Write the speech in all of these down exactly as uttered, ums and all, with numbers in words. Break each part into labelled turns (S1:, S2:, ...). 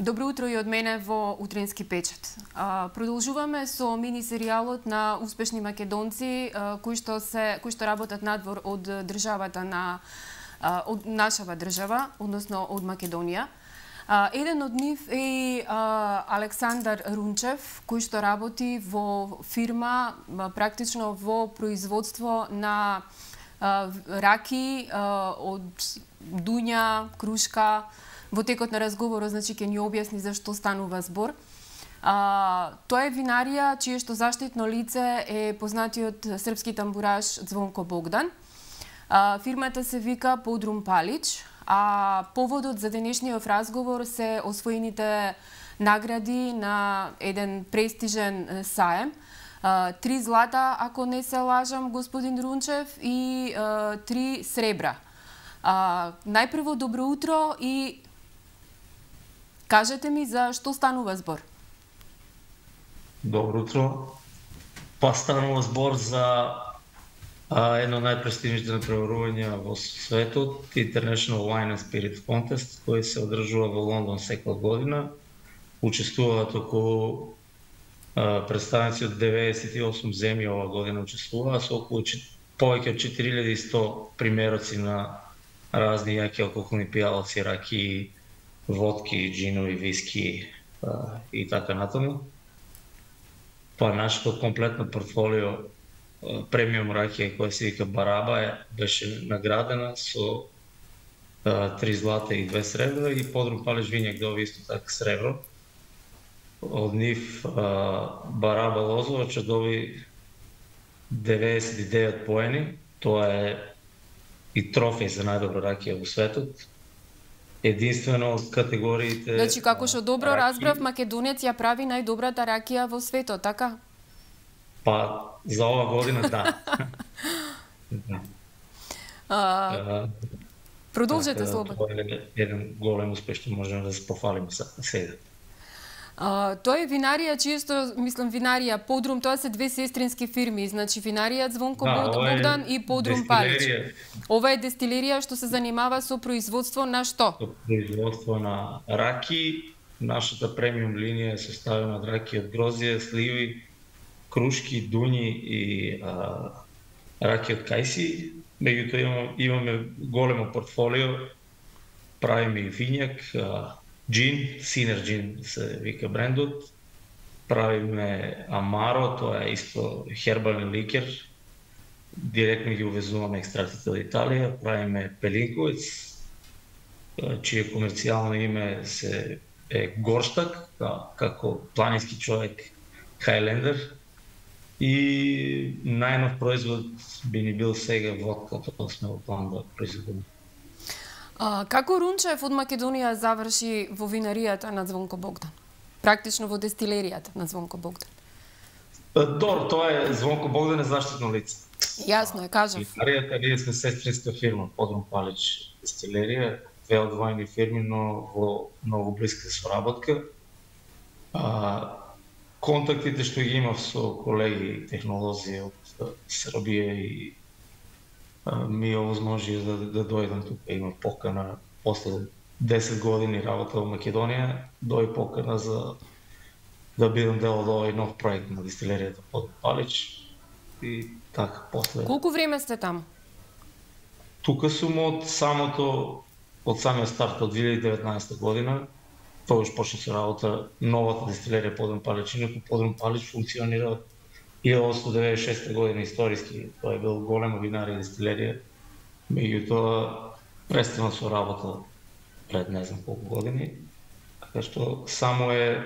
S1: Добро утро и од мене во Утрински печат. Продолжуваме со мини серијалот на успешни македонци кои што се кои што работат надвор од државата на од нашава држава, односно од Македонија. Еден од нив е Александар Рунчев, кој што работи во фирма практично во производство на раки од дуња, крушка. Во текот на разговорот, значи, ќе ни објасни за што станува збор. А, тоа е винарија чие што заштитно лице е познатиот српски тамбураш Звонко Богдан. А, фирмата се вика Подрум Палич, а поводот за денешниот разговор се освоените награди на еден престижен саем. А, три злата, ако не се лажам, господин Рунчев, и а, три сребра. А, најпрво, добро утро и кажете ми за што станува збор.
S2: Добро утро. Па станува збор за а, едно најпрестижните натпреварувања во светот, International Wine and Spirit Contest, кој се одржува во Лондон секоја година. Учествуваат околу а, представници од деветдесет и осум земји ова година учествуваа, со околу повеќе од четири илјади и сто примероци на разни јаки алкохолни пијалаци, раки, водки, джинови, виски а, и така натаму. Па нашето комплетно портфолио а, премиум ракија која се вика Бараба е, беше наградена со а, три злата и две сребра, и Подрум Палич вињак доби исто така сребро. Од нив а, Бараба Лозовач доби деветдесет и девет поени, тоа е и трофеј за најдобра ракија во светот. Единствено од категориите...
S1: Значи, како што добро раки... разбрав, македонец ја прави најдобрата ракија во светот, така?
S2: Па, за ова година, да. да.
S1: А, продолжете,
S2: така,
S1: слободно.
S2: Тоа е еден голем успех што можеме да се пофалиме сега.
S1: Uh, тоа е винарија чисто, мислам, винарија Подрум, тоа се две сестрински фирми, значи винарија Звонко да, Богдан и Подрум Палич. Ова е дестилерија што се занимава со производство на што?
S2: Со производство на раки. Нашата премиум линија е составена од раки од грозје, сливи, крушки, дуњи и а, раки од кајси. Меѓутоа имаме, имаме големо портфолио, правиме и вињак, а, джин, Синер джин се вика брендот. Правиме Амаро, тоа е исто хербален ликер. Директно ги увезуваме екстрактите од Италија. Правиме Пелинковец, чие комерцијално име се е Горштак, како планински човек Хайлендер. И најнов производ би ни бил сега водка, тоа сме во план да произведеме.
S1: А, како Рунчев од Македонија заврши во винаријата на Звонко Богдан? Практично во дестилеријата на Звонко Богдан.
S2: Добро, тоа е Звонко Богдан е заштитно лице.
S1: Јасно е, кажав.
S2: Винаријата ние сме сестринска фирма, Подрум Палич дестилерија, две одвоени фирми, но во многу блиска соработка. А, контактите што ги имав со колеги технолози од Србија и ми е овозможие да, да дојдам тука. Има покана после десет години работа во Македонија, дојде покана за да бидам дел од овој нов проект на дестилеријата Подрум Палич. И така после.
S1: Колку време сте таму?
S2: Тука сум од самото од самиот старт од две илјади и деветнаесета година. Тогаш почна со работа новата дестилерија Подрум Палич. Инаку Подрум Палич функционира од илјада осумстотини деветдесет и шеста година историски. Тоа е бил голема винарија дестилерија. Меѓутоа престана со работа пред не знам колку години. Така што само е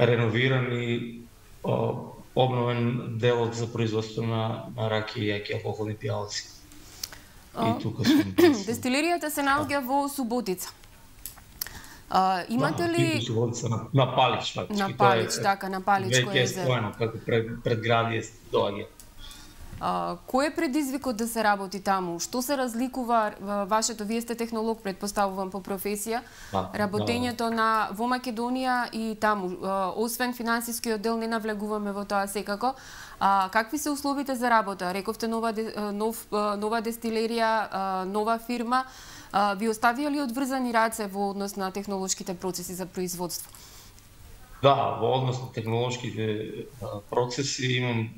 S2: реновиран и о, обновен делот за производство на, на раки и јаки алкохолни пијалаци. И тука сум.
S1: Дестилеријата се наоѓа во Суботица. А, имате
S2: да,
S1: ли
S2: Суботица на, на Палич, фактички.
S1: На Палич, е, така, на Палич кој е
S2: езеро. Веќе е споено како пред предградие доаѓа.
S1: А, кој е предизвикот да се работи таму? Што се разликува вашето, вие сте технолог, предпоставувам по професија, да, работењето да. на во Македонија и таму? А, освен финансискиот дел, не навлегуваме во тоа секако. А, какви се условите за работа? Рековте нова нов нова дестилерија, нова фирма. А, ви оставија ли одврзани раце во однос на технолошките процеси за производство?
S2: Да, во однос на технолошките процеси имам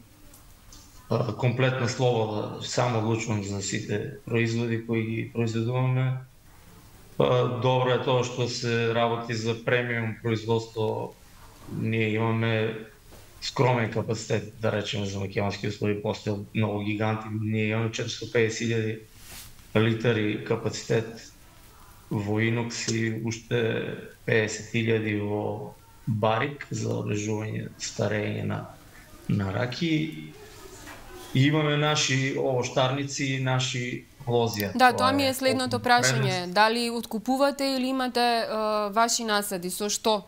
S2: комплетна слобода, само одлучувам за сите производи кои ги произведуваме. Добро е тоа што се работи за премиум производство. Ние имаме скромен капацитет, да речеме, за македонски услови, постојат многу гиганти. Ние имаме четиристотини и педесет илјади литари капацитет во инокс и уште педесет илјади во барик за одлежување, старење на, на раки. И имаме наши овоштарници и наши лозија.
S1: Да, тоа ми е следното прашање. Дали откупувате или имате uh, ваши насади? Со што?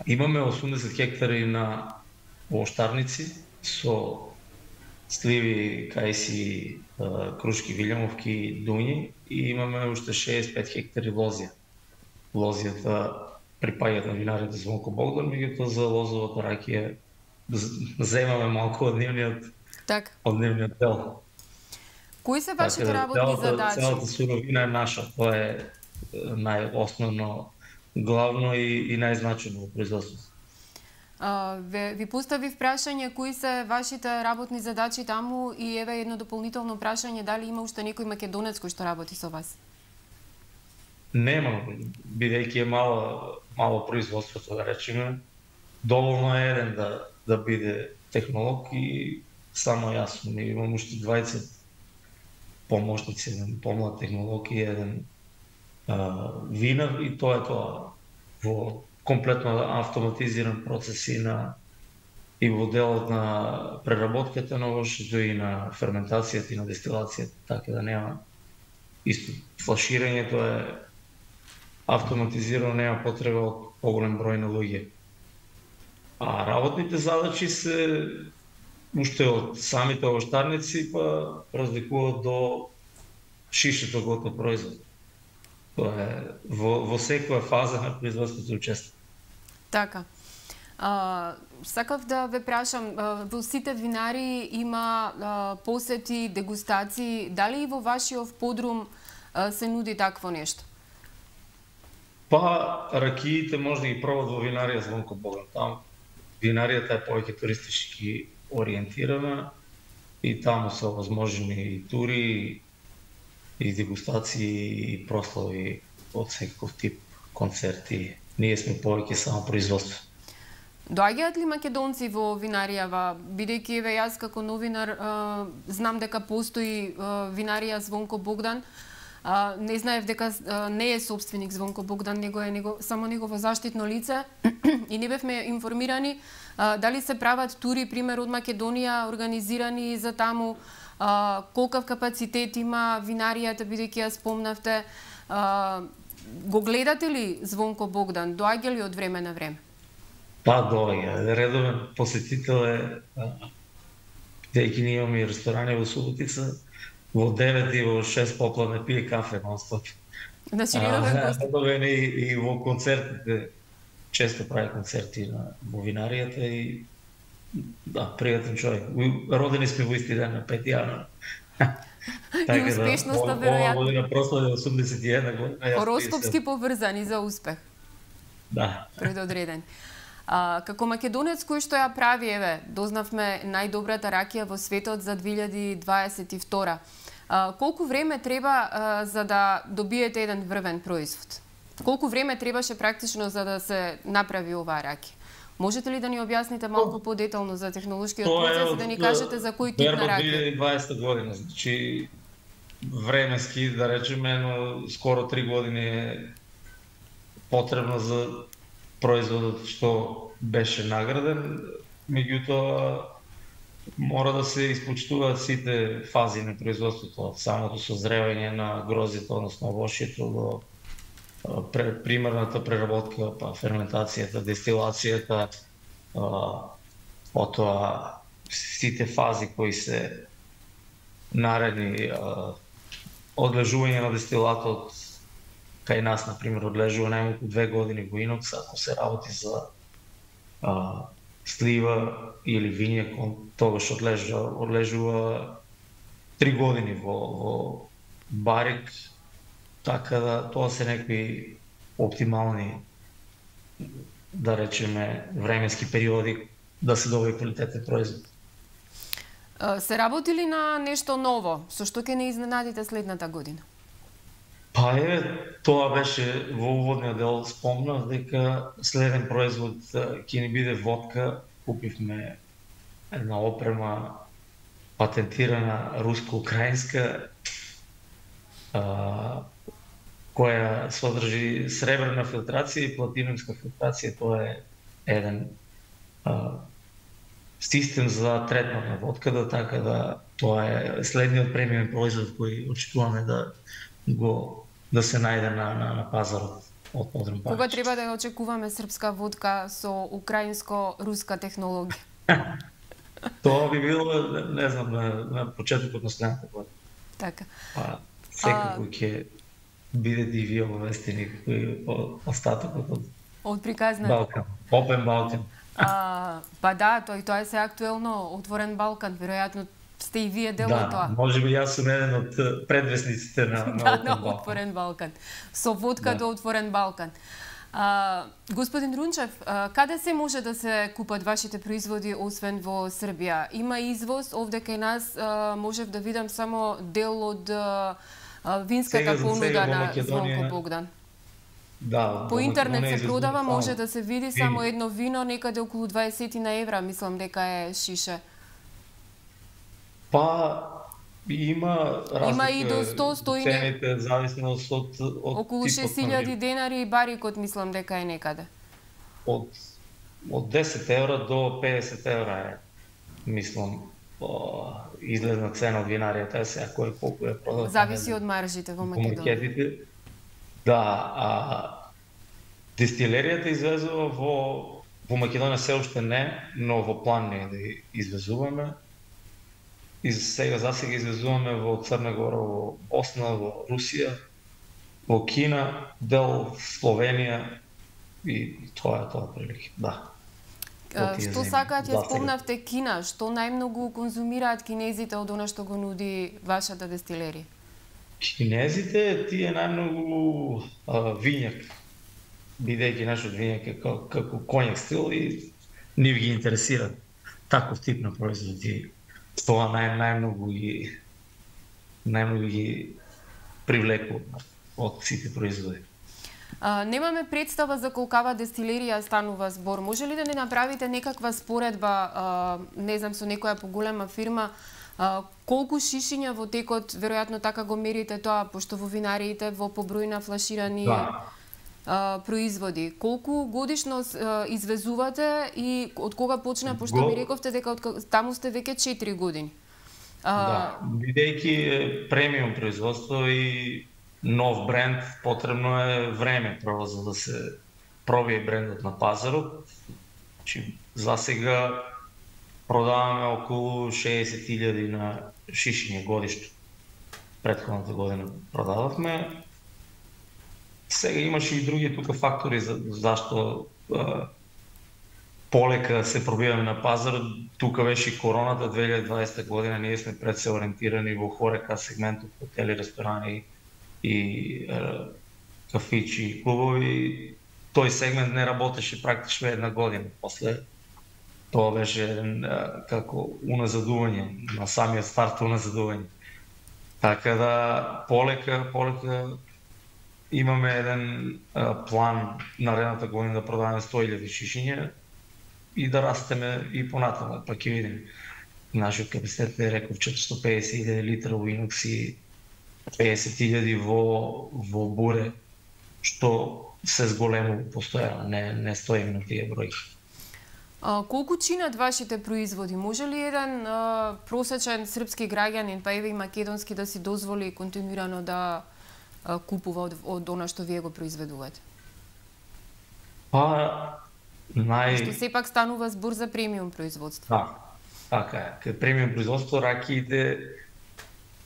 S2: Имаме осумдесет хектари на овоштарници со сливи, кајси, крушки, вилјамовки, дуњи и имаме уште шеесет и пет хектари лозија. Лозијата припаѓаат на винаријата Звонко Богдан, меѓутоа за лозовата ракија земаме малку од нивниот
S1: так.
S2: од нивниот дел.
S1: Кои се вашите работни
S2: целата,
S1: задачи?
S2: Целата суровина е наша, тоа е најосновно, главно и, и најзначено во производството.
S1: Ви, ви поставив прашање кои се вашите работни задачи таму и еве едно дополнително прашање, дали има уште некој македонец кој што работи со вас?
S2: Нема, бидејќи е мало, мало производството, да речеме. Доволно е еден да, да биде технолог и само јас. Ми имам уште дваесет помошници, еден помлад технолог и еден а, винар и тоа е тоа. Во комплетно автоматизиран процеси на и во делот на преработката на овошето и на ферментацијата и на дестилацијата, така да нема исто флаширањето е автоматизирано, нема потреба од поголем број на луѓе. А работните задачи се уште од самите овоштарници па разликуваат до шишето готов производ. Тоа е во, во секоја фаза на производството учества.
S1: Така. А, сакав да ве прашам, во сите винари има а, посети, дегустации, дали и во вашиот подрум а, се нуди такво нешто?
S2: Па, ракиите може да ги пробат во винарија Звонко Богдан. Там винаријата е повеќе туристички ориентирана и таму се овозможени и тури, и дегустации, и прослави од секаков тип концерти. Ние сме повеќе само производство.
S1: Доаѓаат ли македонци во винаријава? Бидејќи еве јас како новинар а, знам дека постои а, винарија Звонко Богдан. А, не знаев дека а, не е собственик Звонко Богдан, него е него, само негово заштитно лице и не бевме информирани а, дали се прават тури, пример од Македонија, организирани за таму, а, колкав капацитет има винаријата, бидејќи ја спомнавте. А, го гледате ли Звонко Богдан? Доаѓа ли од време на време?
S2: Па, доаѓа. Редовен посетител е, бидејќи ние имаме и ресторани во Суботица, во девет и во шест попладне пие кафе нон-стоп.
S1: Значи редовен гост.
S2: Редовен и, и во концертите, често прави концерти на во винаријата и да, пријатен човек. Родени сме во исти ден на пети јануари.
S1: И успешноста
S2: да,
S1: веројатно.
S2: Ова година прослави осумдесет и една година.
S1: Хороскопски поврзани за успех.
S2: Да.
S1: Предодреден. А, како македонец кој што ја прави, еве, дознавме најдобрата ракија во светот за две илјади дваесет и втора. А, колку време треба а, за да добиете еден врвен производ? Колку време требаше практично за да се направи оваа ракија? Можете ли да ни објасните малку подетално за технолошкиот процес и да ни кажете за кој тип на ракија?
S2: две илјади и дваесета година, значи временски, да речеме, но скоро три години е потребно за производот што беше награден, меѓутоа мора да се испочитуваат сите фази на производството, од самото созревање на грозјето, односно овошјето, до примерната преработка, па ферментацијата, дестилацијата, потоа сите фази кои се наредни, одлежување на дестилатот. Кај нас, например, одлежува најмалку две години во инокс, ако се работи за а, слива или виње, тогаш одлежува, одлежува три години во, во барик така да тоа се некои оптимални, да речеме, временски периоди да се добие квалитетен производ.
S1: Се работи ли на нешто ново? Со што ќе не изненадите следната година?
S2: Па е, тоа беше во уводниот дел спомнав дека следен производ ќе ни биде водка. Купивме една опрема патентирана руско-украинска, која содржи сребрена филтрација и платинумска филтрација. Тоа е еден а, систем за третман на водката, така да тоа е следниот премиум производ кој очекуваме да го да се најде на на, на пазарот од Одрин Парк.
S1: Кога треба да очекуваме српска водка со украинско-руска технологија?
S2: Тоа би било, не знам, на, на почетокот на следната година.
S1: Така.
S2: Па секако ќе бидете и вие обавестени кој остатокот од
S1: од приказната
S2: Балкан, Open Balkan.
S1: А, па да, тој тоа е се актуелно отворен Балкан, веројатно сте и вие дел од
S2: да,
S1: тоа.
S2: може би јас сум еден од предвесниците на, на,
S1: да,
S2: Open
S1: на
S2: Balkan.
S1: отворен Балкан. Со водка
S2: да.
S1: до отворен Балкан. А, господин Рунчев, а, каде се може да се купат вашите производи освен во Србија? Има извоз, овде кај нас а, можев да видам само дел од а, винската
S2: сега,
S1: понуда
S2: сега
S1: на
S2: Македонија...
S1: Звонко Богдан.
S2: Да,
S1: по интернет се продава,
S2: само...
S1: може да се види само едно вино, некаде околу дваесет на евра, мислам дека е шише.
S2: Па има разлика.
S1: Има и до сто, сто и не...
S2: Цените зависност од од
S1: околу шест илјади денари и барикот мислам дека е некаде.
S2: Од од десет евра до педесет евра е, мислам, о, излезна цена од винаријата, сега кој колку е продаваат.
S1: Зависи од маржите во Македонија.
S2: Да, а дестилеријата извезува во во Македонија се уште не, но во план е да извезуваме. И сега за сега извезуваме во Црна Гора, во Босна, во Русија, во Кина, дел Словенија и тоа е тоа прилики. Да.
S1: Што сакаат, ја спомнавте Кина, што најмногу конзумираат кинезите од она што го нуди вашата дестилерија?
S2: Кинезите тие најмногу вињак, бидејќи нашот вињак е како, како конјак стил и нив ги интересира таков тип на производи. Тоа нај најмногу ги најмногу ги привлекува од сите производи.
S1: А, немаме представа за колкава дестилерија станува збор. Може ли да не направите некаква споредба, а, не знам, со некоја поголема фирма, а, колку шишиња во текот, веројатно така го мерите тоа, пошто во винариите во поброј на флаширани да. а, производи. Колку годишно а, извезувате и од кога почна, пошто го... ми рековте дека од таму сте веќе четири години.
S2: А... Да, бидејќи премиум производство и нов бренд, потребно е време прво за да се пробие брендот на пазарот. Значи, за сега продаваме околу шеесет илјади на шишиња годишно. Претходната година продававме. Сега имаше и други тука фактори за зашто а, полека се пробиваме на пазарот. Тука беше и короната две илјади и дваесета година, ние сме пред се ориентирани во хорека сегментот, хотели, ресторани и е, кафичи и клубови. Тој сегмент не работеше практично една година. После тоа беше еден е, како уназадување, на самиот старт уназадување. Така да полека, полека имаме еден е, план наредната година да продаваме сто илјади шишиња и да растеме и понатаму, па ќе видиме. Нашиот капацитет е реков четиристотини и педесет илјади литра во инокс и педесет илјади во во буре, што се зголемува постојано, не не стоиме на тие бројки.
S1: А, колку чинат вашите производи? Може ли еден а, просечен српски граѓанин, па еве и македонски, да си дозволи континуирано да а, купува од, од она што вие го произведувате?
S2: Па нај
S1: Што сепак станува збор за премиум производство.
S2: Да, така е. Кај премиум производство ракиите,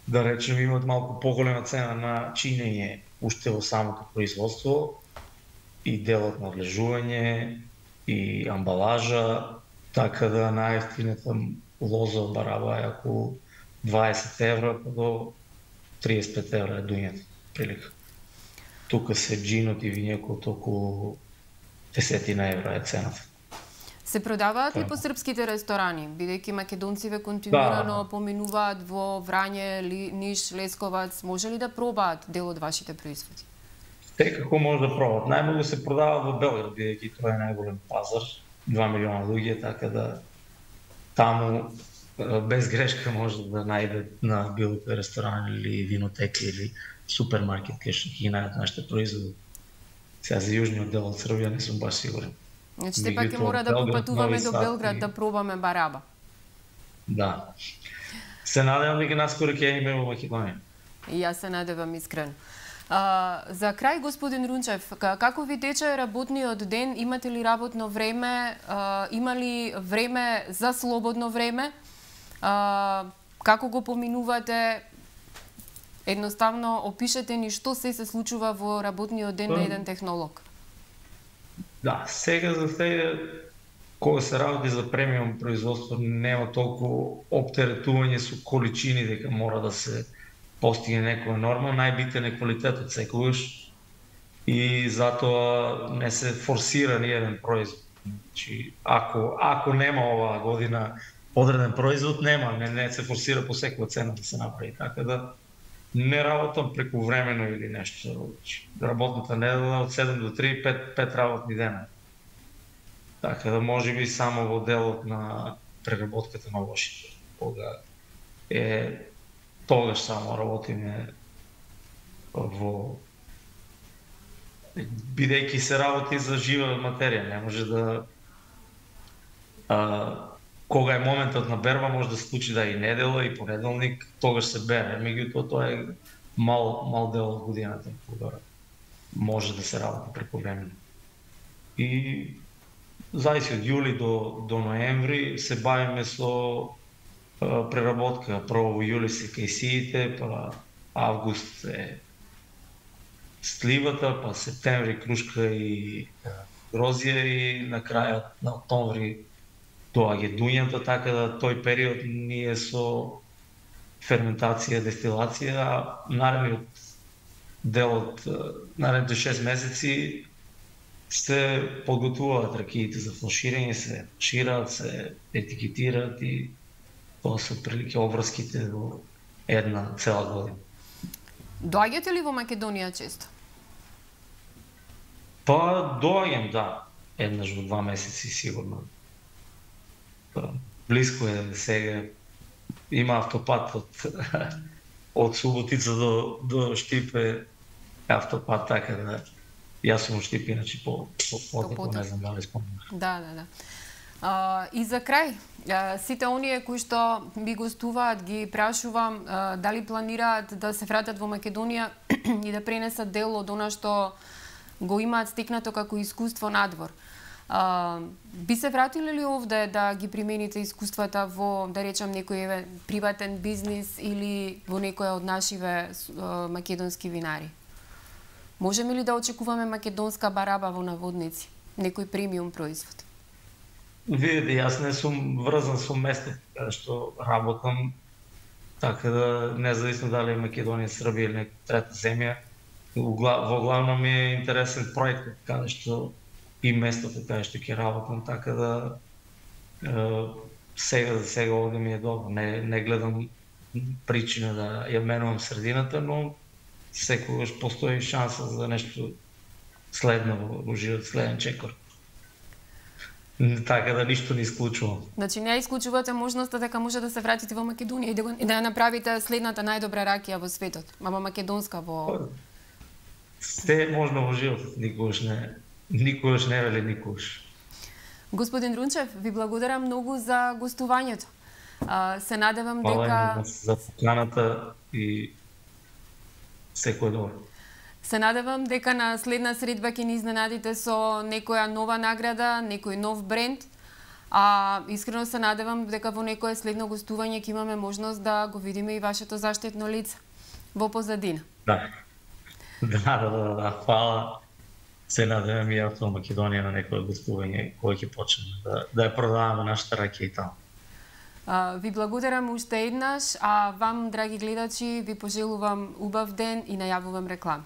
S2: да речем, имаат малку поголема цена на чинење уште во самото производство и делот на одлежување и амбалажа, така да најефтината лоза од бараба е околу дваесет евра до триесет и пет евра е дуњето, прилика. тука се джинот и вињекот околу десетина евра е цената.
S1: Се продаваат ли по српските ресторани, бидејќи македонците континуирано да. поминуваат во Врање, Ниш, Лесковац, може ли да пробаат дел од вашите производи?
S2: Секако може да пробаат. Најмногу се продава во Белград, бидејќи тоа е најголем пазар, два милиона луѓе, така да таму без грешка може да најде на било кој ресторан или винотека или супермаркет кај што ќе најдат нашите производи. Сега за јужниот дел од Србија не сум баш сигурен.
S1: Значи, те пак ќе мора да попатуваме до Белград и... да пробаме бараба.
S2: Да. Се надевам дека наскоро ќе име во Македонија.
S1: И јас се надевам искрено. А, за крај, господин Рунчев, како ви тече работниот ден? Имате ли работно време? А, има ли време за слободно време? А, како го поминувате? Едноставно, опишете ни што се се случува во работниот ден на еден технолог.
S2: Да, сега за сега, кога се работи за премиум производство, нема толку оптеретување со количини дека мора да се постигне некоја норма. Најбитен е квалитетот секогаш и затоа не се форсира ни еден производ. Значи, ако, ако нема оваа година одреден производ, нема, не, не се форсира по секоја цена да се направи. Така да не работам преку времено или нешто. Работната недела од седум до три, пет, пет работни дена. Така да може би само во делот на преработката на лошите. Кога е тогаш само работиме во бидејќи се работи за жива материја, не може да а, кога е моментот на берба може да се случи да и недела и понеделник, тогаш се бере. Меѓутоа тоа е мал мал дел од годината кога може да се работи преку време. И зависи од јули до до ноември се бавиме со а, преработка. Прво во јули се кајсиите, па август е сливата, па септември крушка и грозија и на крајот на октомври доаѓа дуњата, така да тој период ние со ферментација, дестилација, а наредниот дел од наредните шест месеци се подготвуваат ракиите за флаширање, се шираат, се етикетираат и тоа се прилike обврските во една цела година.
S1: Доаѓате ли во Македонија често?
S2: Па доаѓам, да, еднаш во два месеци сигурно. Близко е сега, има автопат од, од Суботица до, до Штипе, автопат, така да јас сум Штипе, иначе по по не знам дали спомнах.
S1: Да, да, да. А, и за крај, а, сите оние кои што би гостуваат, ги прашувам а, дали планираат да се вратат во Македонија и да пренесат дел од она што го имаат стекнато како искуство надвор. А, би се вратиле ли овде да ги примените искуствата во, да речам, некој приватен бизнис или во некоја од нашиве а, македонски винари? Можеме ли да очекуваме македонска бараба во наводници? Некој премиум производ?
S2: Видите, јас не сум врзан со местото каде што работам, така да независно дали е Македонија, Србија или нека трета земја, во главно ми е интересен проектот каде што и местото каде што ќе работам, така да е, сега за сега овде ми е добро. Не, не гледам причина да ја менувам средината, но секогаш постои шанса за нешто следно во живот, следен чекор. Така да ништо не исклучувам.
S1: Значи не исклучувате можноста дека може да се вратите во Македонија и да, го, и да ја направите следната најдобра ракија во светот, ама македонска во...
S2: Се можно во животот, никогаш не, никогаш не вели никогаш.
S1: Господин Рунчев, ви благодарам многу за гостувањето. А, се надевам дека...
S2: Хвала за поканата и секој добро.
S1: Се надевам дека на следна средба ќе ни изненадите со некоја нова награда, некој нов бренд, а искрено се надевам дека во некое следно гостување ќе имаме можност да го видиме и вашето заштитно лице во позадина.
S2: Да. Да, да, да, да. Хвала. Се надевам и јас во Македонија на некој гостување кој ќе почне да, да ја продаваме нашата ракија и таму.
S1: Uh, ви благодарам уште еднаш, а вам, драги гледачи, ви пожелувам убав ден и најавувам реклама.